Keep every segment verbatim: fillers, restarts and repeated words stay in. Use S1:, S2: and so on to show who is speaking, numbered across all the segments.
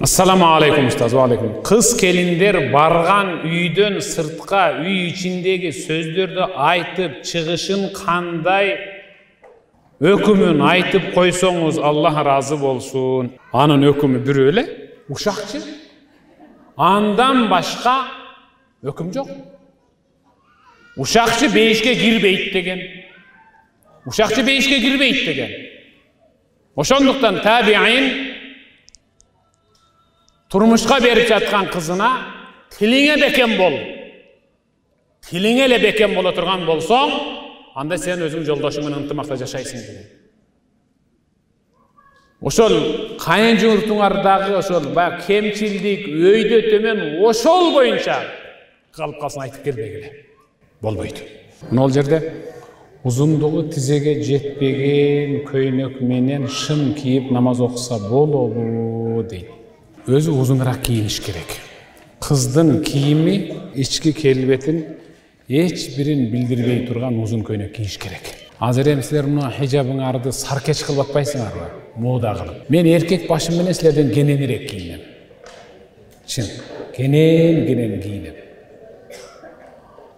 S1: Assalamu alaikum ustaz, wa alaikum. Kız kelinler bargan üydön sırtka, üy içindeki sözlörдү aytıp çıgışın kanday ökümün aytıp koysoңuz Allah razı bolsun. Anın ökümü bir öyle, uşakçı. Andan başka öküm yok. Uşakçı beyişke girbeyt degen. Uşakçı beyişke girbeyt degen. Oşonduktan tabi'in turmuşka berip жаткан kızına tiline beken bol. Tiline ele beken bola turgan bolsoň, anda sen özüň joldaşың менен ынтымакта жашайсың деген. Ошол кайынжуртуңардагы ошол баягы кемчилдик, өйдө төмөн ошол боюнча калып калсын айтып келбегиле. Болбойт. Мына ол жерде узундугу тизеге жетпеген көйнөк менен шым кийип намаз окуса болобу дейт. Өзү узунураак кийиниш керек. Кыздын кийими ички келбетин эч бирин билдирбей турган узун көйнөк кийиш керек. Азыр эми силер мына хижабыңарды саркеч кылып атпайсыңарбы? Мода кылып. Мен эркек башым менен силерден кененирээк кийинем. Чын, кенен кенен кийинем.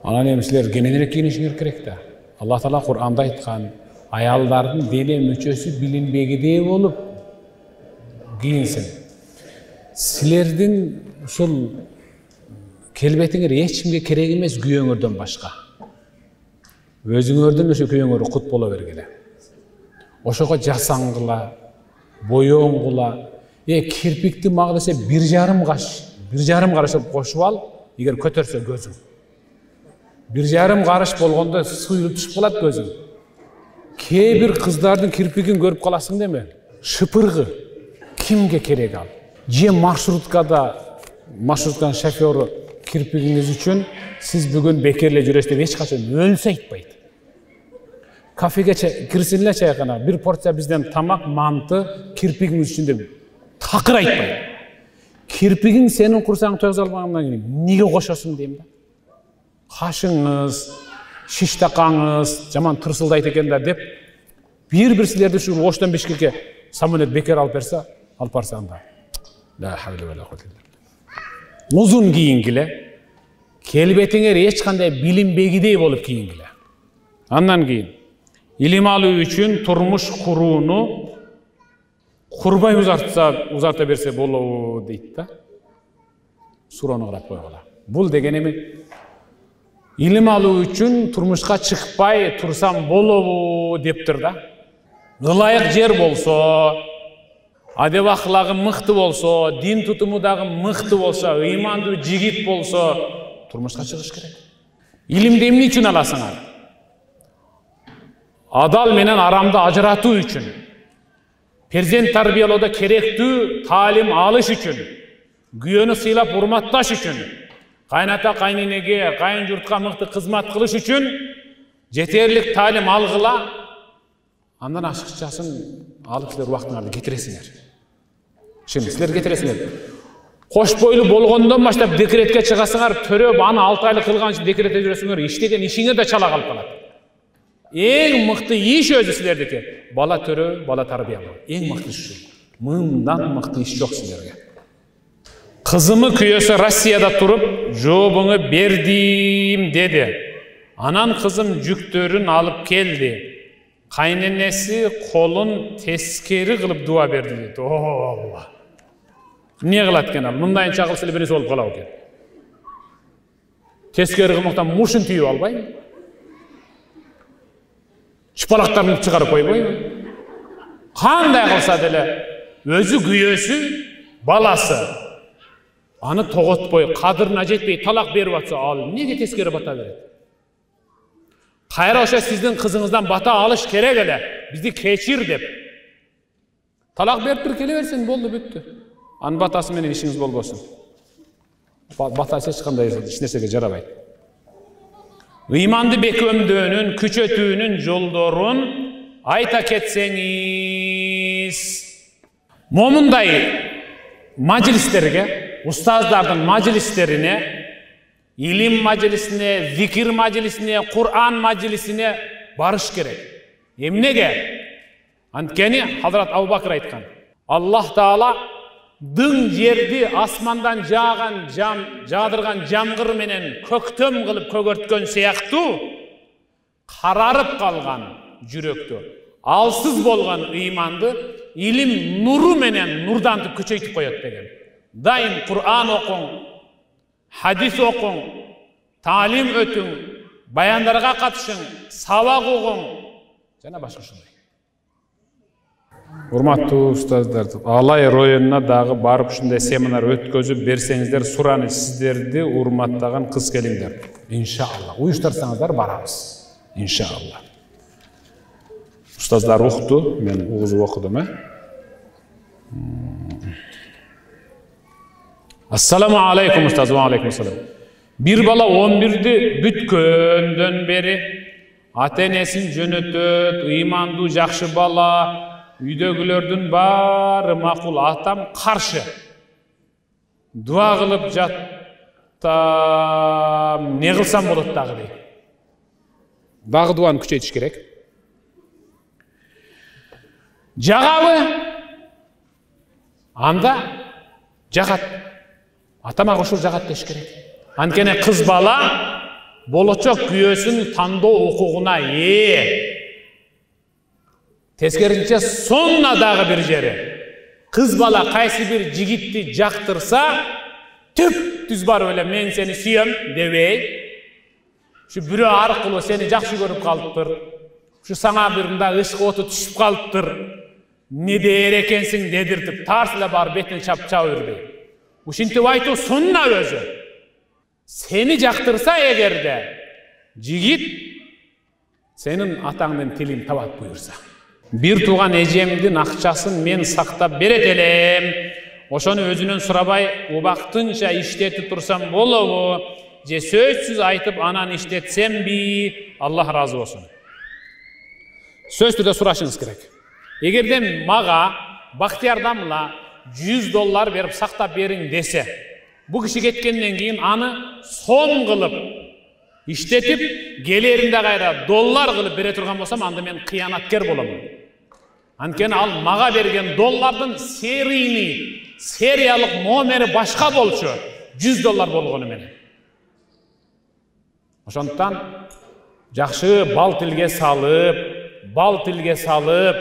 S1: Анан эми силер кененирээк кийинишиңер керек да. Аллах Таала Кур'анда айткан, аялдардын дене мүчөсү билинбегидей болуп кийинсин. Силердин ушул келбетиңер эч кимге керек эмес күйөөңөрдөн башка. Өзүңөрдөн ошо күйөөңөр кут боло бергиле. Ошого жасаңгыла, боёңгула, э кирпикти мага десе бир жарым каш, бир жарым караш кошуп ал, эгер көтөрсө көзүң. Бир жарым караш болгондо суюлуп түшүп калат көзүң. Кээ бир кыздардын кирпигин көрүп каласың деме? Шыпыргы. Кимге керек ал? Же маршруткада маршрутканын шофёру кирпигиңиз үчүн сиз бүгүн бекерле жүрөсүз деп эч качан өлсө айтпайт. Кафеге кирсин эле чайкана, бир порция бизден тамак, манты кирпигиңиз үчүн деп такыр айтпайт. Кирпигиң сенин курсаң төзө албагандан кийин эмнеге кошосуң дейм да. Кашыңыз, шиштакаңыз жаман тырсылдайт экен да деп бир-бир силерди ушу Оштон Бишкекке самолет бекер алып берсе, алып барсаң да. La havle ve la kuvvete illa billah. Uzun giyiнгиле, келбетиңер эч кандай билинбегидей болуп кийингиле. Андан кийин илим алуу үчүн турмуш курууну курбай узартса, узарта берсе болобу дейт да. Суроону карап койгула. Бул деген эми илим алуу үчүн турмушка чыкпай турсам болобу дептир да. Ылайык жер болсо, адеп ахлагы мыкты болсо, дин тутуму дагы мыкты болсо, ыймандуу жигит болсо, турмушка чыгыш керек. Илимди эмне үчүн аласыңар? Адал менен арамды ажыратуу үчүн, перзент тарбиялоодо керектүү таалим алыш үчүн, күйөөнү сыйлап урматташ үчүн, кайната кайненеге, кайын журтка мыкты кызмат кылыш үчүн жетерлик таалим алгыла. Андан ашыкчасын алып силер убактыңарды кетиресиңер. Şimdi силер кетиресиңер. Кош бойлуу болгондон баштап декретке чыгасыңар, төрөп аны алты айлык кылган үчүн декретте жүрөсүңөр, иштеген ишиңер да чала калып калат. Эң мыкты иш өзү силердики. Бала төрөө, бала тарбиялоо. Эң мыкты иш. Мындан мыкты иш жок силерге. Кызымы күйөөсү Россияда туруп, жообуңу бердим деди. Анан кызым жүктөрүн алып келди. Кайненеси колун тескери кылып дуа берди дейт. О, эмне кылат экен ал? Мындайынча кылса эле биринчи болуп калабы экен. Тескери кылмактан мушун тийип албайбы? Чыпалактарын чыгарып койбойбу? Кандай кылса деле өзү күйөөсү, баласы аны тоготпой, кадырына жетпей талак берип атса, ал эмнеге тескери бата берет? Кайра ошо сиздин кызыңыздан бата алыш керек эле. Бизди кечир деп. Талак берип туруп келе берсең болду, бүттү. Анын батасы менен ишиңиз болбосун. Батасы эч кандай эч нерсеге жарабайт. Ыйманды бекемдөөнүн, күчөтүүнүн жолдорун айта кетсеңиз. Момундай мажлистерге, устаздардын мажлистерине, илим мажлисине, зикир мажлисине, Кур'ан мажлисине барыш керек. Эмнеге? Анткени Hazrat Абу Бакыр айткан. Аллах Таала дың жерди асмандан жааган жам жаадырган жамгыр менен көктөм кылып көгөрткөн сыяктуу карарып калган жүрөктү, алсыз болгон ыйманды илим нуру менен нурдантып күчөйтүп коет деген. Дайым Кур'ан окуң, хадис окуң, таалим өтүң, баяндарга катышың, сабак угуң жана башка ушундай. Урматтуу устаздар, Алай районуна дагы барып ушундай семинар өткөзүп берсеңиздер, сураны сиздерди урматтаган кыз келиңдер. Иншалла. Уюштурсаңыздар барабыз. Иншалла. Устаздар укту, мен угузуп окудум, э? Ассаламу алейкум устаз, ва алейкум ассалам. Бир бала он бирди бүткөндөн бери ата-энесин жөнөтөт, ыймандуу жакшы бала, үйдөгүлөрдүн баары макул, атам каршы. Дуа кылып жаттам, не кылсам болот дагы дейт. Дагы дуаны күчөйтүш керек. Жагабы? Анда жагат. Атама кошуп жагат деш керек. Анткени кыз бала болочок күйөөсүн тандоо укугуна ээ. Тескерисинче сонна дагы бир жери. Кыз бала кайсы бир жигитти жактырса, түп түз барып эле мен сени сүйөм дебей, ушу бирөө аркылуу сени жакшы көрүп калыптыр. Ушу саңа бир мындай ышкы оту түшүп калыптыр. Не дээр экенсиң дедиртип, тарс эле барып бетине чап чаба бербей. Ушинтип айтуу сунна өзү. Сени жактырса эгерде, жигит сенин атаңдын тилин табат буйурса. Бир тууган эжемдин акчасын мен сактап берет элем. Ошону өзүнөн сурабай, убактынча иштетип турсам болобу? Же сөзсүз айтып анан иштетсемби? Аллах разы болсун. Сөз түрдө сурашыңыз керек. Эгерде мага Бактияр Дамла жүз доллар берип сактап бериң десе, бу киши кеткенден кийин аны сом кылып иштетип, келеринде кайра доллар кылып бере турган болсам, анда мен кыянаткер болом. Анткени ал мага берген доллардын серийни, сериялык номери башка болчу, жүз доллар болгону менен. Ошондуктан жакшы бал тилге салып, бал тилге салып,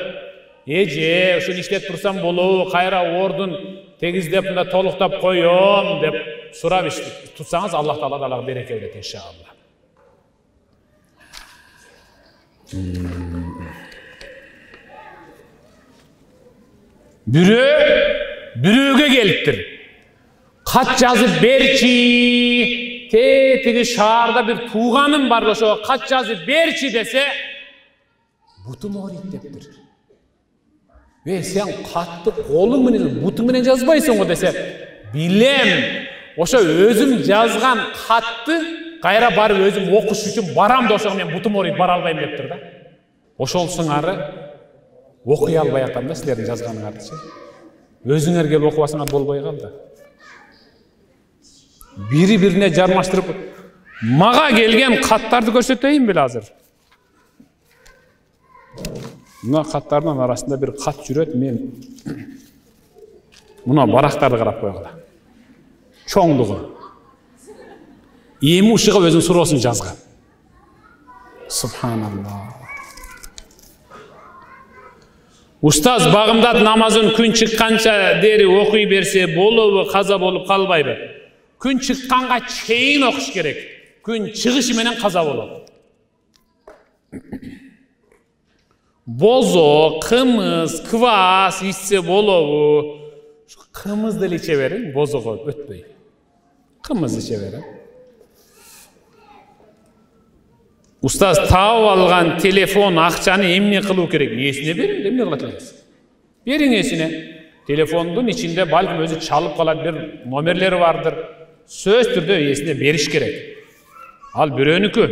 S1: эже, ушуну иштеп турсам болобу, кайра ордун тегиздеп мында толуктап коём деп сурап иш тутсаңыз, Аллах Таала дагы береке берет иншалла. Бирөө бирөөгө келиптир. Кат жазып берчи, те тиги шаарда бир тууганым бар, ошого кат жазып берчи десе, бутум ооройт дептир. Э, сен катты колуң менен, бутуң менен жазбайсың го десе, билем. Ошо өзүм жазган катты кайра барып өзүм окуш үчүн барам да, ошого мен бутум ооройт бара албайм дептир да. Ошол сыңары окуй албай атам да силердин жазганыңарды. Өзүңөр келип окубасаңар болбой калды. Бири бирине жармаштырып, мага келген каттарды көрсөтөйүн беле азыр. Мына каттардын арасында бир кат жүрөт, мен мына барактарды карап койгула. Чоңдугу. Эми ушуга өзүнүн суроосун жазган. Субханалла. Устаз багымдат намазын күн чыкканча дери окуй берсе болобу, каза болуп калбайбы? Күн чыкканга чейин окуш керек. Күн чыгышы менен каза болот. Бозо, кымыз, квас ичсе болобу? Кымыз деле иче бериң, бозого өтпөй. Кымыз иче бериң. Устаз, таап алган телефон акчаны эмне кылуу керек? Эсине бериң, эмне кылат элеңиз? Бериң эсине. Телефондун ичинде балким өзү чалып калат, бир номерлери бардыр. Сөз түрдө эсине бериш керек. Ал бирөөнүкү.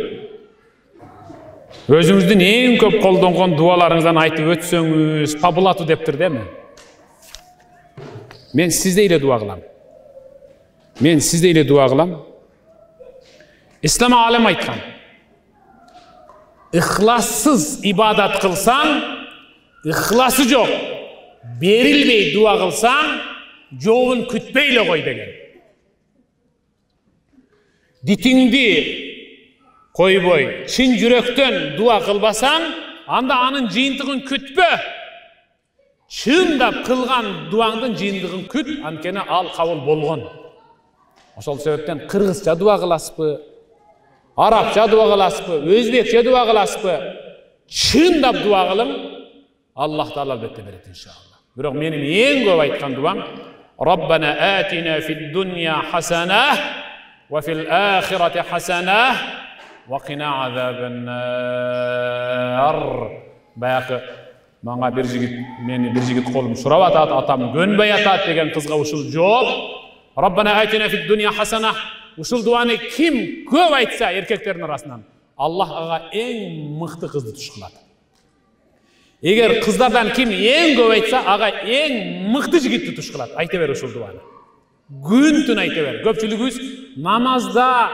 S1: Өзүңүздүн эң көп колдонгон дуаларыңыздан айтып өтсөңүз, табылату дептир деме? Мен сизде эле дуа кылам. Мен сизде эле дуа кылам. Ислам алим айткан. Ихлассыз ибадат кылсаң, ихласы жок, берилбей дуа кылсаң, жообун күтпөй эле кой деген. Дитиңди койбой, чын жүрөктөн дуа кылбасаң, анда анын жыйынтыгын күтпө. Чындап кылган дуаңдын жыйынтыгын күт, анткени ал кабыл болгон. Ошол себептен кыргызча дуа кыласызбы, арабча дуа кыласызбы, өзбекче дуа кыласызбы, чындап дуа кылың, Аллах Таала албетте берет иншалла. Бирок менин эң көп айткан дуам: Rabbana atina fid dunya hasana wa fil akhirati hasana wa qina azaban nar. Баягы мага бир жигит, мени бир жигит колум сурап атат, атам көнбөй атат деген кызга ушул жооп: Rabbana atina fid dunya hasana. Ушул дуаны ким көп айтса эркектердин арасынан, Аллах ага эң мыкты кызды туш кылат. Эгер кыздардан ким эң көп айтса, ага эң мыкты жигитти туш кылат. Айта бер ушул дуаны. Күн түн айта бер. Көпчүлүгүбүз намазда,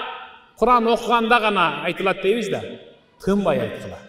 S1: Куран окуганда гана айтылат дейбиз да. Тынбай айткыла.